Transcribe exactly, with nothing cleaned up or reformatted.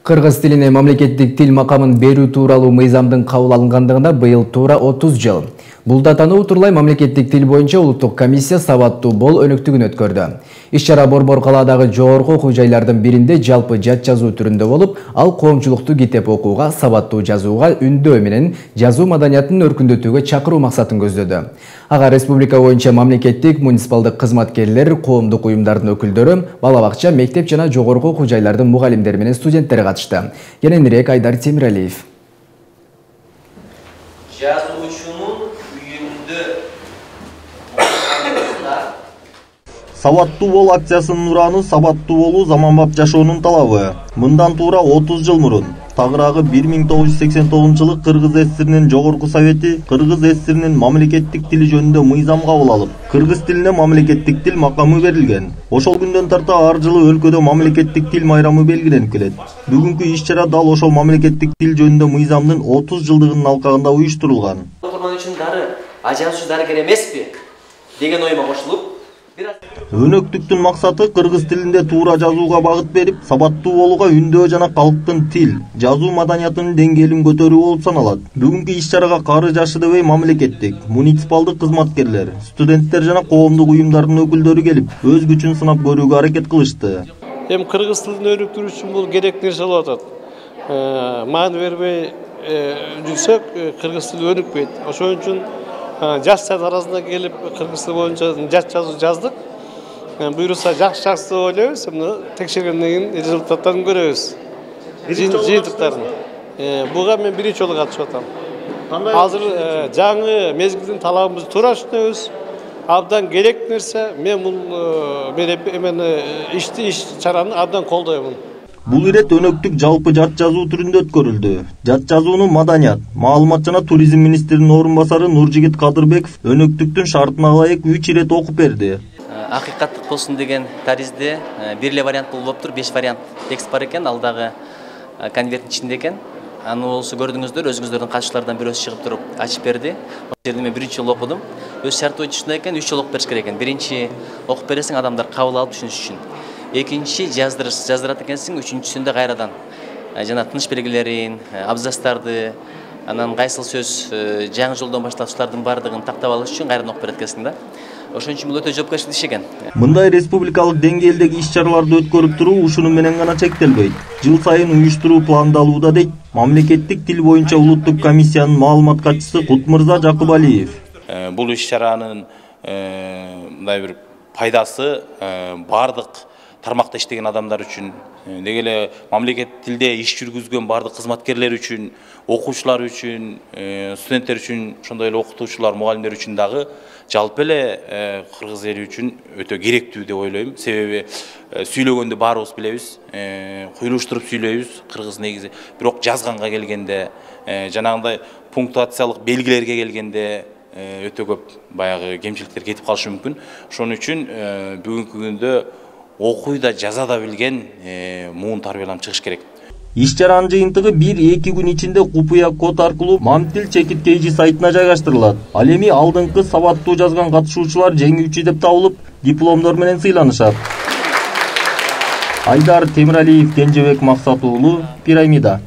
Кыргыз тилине мамлекеттик тил макамын берүү тууралуу мыйзамдын кабыл алынгандыгына быйыл туура отуз жыл. Бул датаны утурлай мамлекеттик тил боюнча улуттук комиссия сабаттуу бол өнөктүгүн өткөрдү. Иш-чара Борбор калаадагы жогорку окуу жайлардын биринде жалпы жат жазуу түрүндө болуп, ал коомчулукту китеп окууга, сабаттуу жазууга, үндөө менен жазуу маданиятын өркүндөтүүгө чакыруу максатын көздөдү. Ага республика боюнча мамлекеттик, муниципалдык кызматкерлер, коомдук уюмдардын өкүлдөрү, бала бакча, мектеп жана жогорку окуу жайлардын мугалимдери менен студенттери катышты. Кененирээк Айдар Темиралиев. Жазуучунун үйүндө Сабаттуу бол акциясынын ураны сабаттуу болуу заманбап жашоонун талабы. Мындан туура отуз жыл мурун тагыраагы бир миң тогуз жүз сексен тогузунчу жылы Кыргыз СССРинин жогорку совети Кыргыз СССРинин мамлекеттик тили жөнүндө мыйзам кабыл алып, кыргыз тилине мамлекеттик тил макамы берилген. Ошол күндөн тарта ар жылы өлкөдө мамлекеттик тил майрамы белгиленип келет. Бүгүнкү иш-чара дал ошол мамлекеттик тил жөнүндө мыйзамдын отуз жылдыгынын алкагында уюштурулган. Окурман үчүн дары ажаачы дарыгер эмеспи деген оюма кошулуп, өнөктүктүн максаты кыргыз тилинде туура жазууга багыт берип, сабаттуу болууга үндөө жана калктын тил, жазуу маданиятынын деңгээлин көтөрүү болуп саналат. Бүгүнкү иш-чарага кары жашы дебей мамлекеттик, муниципалдык кызматкерлер, студенттер жана коомдук уюмдардын өкүлдөрү келип, өз күчүн сынап көрүүгө аракет кылышты. Эми кыргыз тилин өнүктүрүү үчүн бул керек нерсе болуп атат. Маани бербей жүрсөк, кыргыз тили өнүкпөйт. Ошон үчүн жаштар арасында келип кыргыз тили боюнча жат жазуу жаздык. Буюрса жакшы жакшы деп ойлойбуз. Муну текшергенден кийин результаттарын көрөбүз. Жыйынтыктарын. Буга мен биринчи жолу катышып атам. Азыр жаңы мезгилдин талабыбызды туура түшүнөбүз. Абдан керек нерсе. Мен бул мен ишти иш-чараны абдан колдоймун. Бул ирет өнөктүк жалпы жат жазуу түрүндө өткөрүлдү. Жат жазууну маданият, маалымат жана туризм министринин орун басары Нуржигит Кадырбеков өнөктүктүн шартына ылайык үч ирет окуп берди. Акыйкаттык болсун деген таризде бир эле вариант болуп тур, беш вариант текст бар экен, ал дагы конверттин ичинде экен. Аны болсо көрдүңүздөр, өзүңүздөрдүн катышуулардан бирөөсү чыгып туруп ачып берди. Ошол жерде мен биринчи жолу окудум. Өз шарты боюнча ушундай экен, үч жолу окуп бериш керек экен. Биринчи окуп бересиң, адамдар кабыл алып түшүнүш үчүн. Экинчи жаздырыс жаздырат экенсиң, үчүнчүсүндө кайрадан жана тыныш белгилерин, абзацтарды, анан кайсыл сөз жаңы жолдон баштап ушулардын баардыгын тактап алыш үчүн кайрадан окуп берет экенсиң да. Ошон үчүн бул өтө жоопкерчиликтүү иш экен. Мындай республикалык деңгээлдеги иш-чараларды өткөрүп туруу ушуну менен гана чектелбейт. Жыл сайын уюштуруу пландалууда дейт мамлекеттик тил боюнча улуттук комиссиянын маалымат катчысы Кутмырза Жакыбалиев. Бул иш-чаранын мындай бир пайдасы бардык тармакта иштеген адамдар үчүн, деги эле мамлекеттик тилде иш жүргүзгөн бардык кызматкерлер үчүн, окуучулар үчүн, студенттер үчүн, ошондой эле окутуучулар, мугалимдер үчүн дагы жалпы эле кыргыз эли үчүн өтө керектүү деп ойлойм. Себеби сүйлөгөндө баарыбыз билебиз, куйлуштуруп сүйлөйбүз кыргыз негизи. Бирок жазганга келгенде, жанагындай пунктуациялык белгилерге келгенде өтө көп баягы кемчиликтер кетип калышы мүмкүн. Ошон үчүн бүгүнкү күндө окуй да жаза да билген муун тарбияланып чыгыш керек. Иш-чаранын жыйынтыгы бир-эки күн ичинде купуя код аркылуу Мамтил чекиткейжи сайтына жайгаштырылат. Ал эми алдыңкы сабаттуу жазган катышуучулар жеңүүчү деп табылып, дипломдор менен сыйланышат. Айдар Темиралиев, Кенжебек Максат уулу, Пирамида.